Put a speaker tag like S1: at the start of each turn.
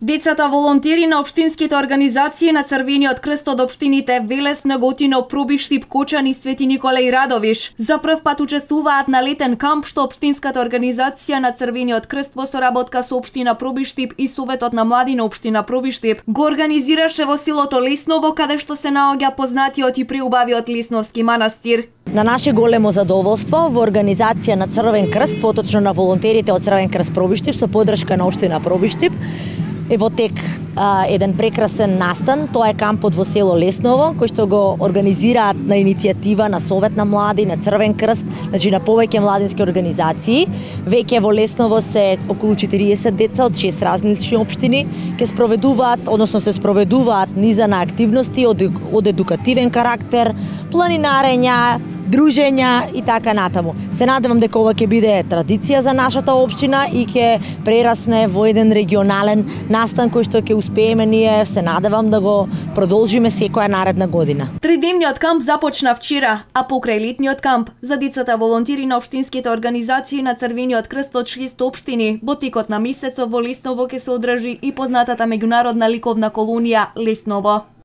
S1: Децата волонтери на општинските организации на Црвениот крст од општините Велес, Неготино, Пробиштип, Кочан и Свети Никола и Радовиш за прв пат учествуваат на летен камп што општинската организација на Црвениот крст во соработка со општина Пробиштип и Советот на млади на општина Пробиштип го организираше во селото Лесново, каде што се наоѓа познатиот и преубавиот Лесновски манастир.
S2: На наше големо задоволство во организација на Црвен крст, поточно на волонтерите од Црвен крст Пробиштип со поддршка на општина Пробиштип, е во тек еден прекрасен настан. Тоа е кампот во село Лесново, кој што го организираат на иницијатива на Совет на млади, на Црвен крст, значи на повеќе младински организации. Веќе во Лесново се околу 40 деца од 6 различни општини ќе спроведуваат, односно се спроведуваат низа на активности од едукативен карактер, планинарења, дружења и така натаму. Се надевам дека ова ќе биде традиција за нашата општина и ќе прерасне во еден регионален настан кој што ќе успееме ние, се надевам да го продолжиме секоја наредна година.
S1: Тридневниот камп започна вчера, а покрај летниот камп за децата волонтери на општинските организации на Црвениот крст од 6 општини, во текот на месецот во Лесново ќе се одржи и познатата меѓународна ликовна колонија Лесново.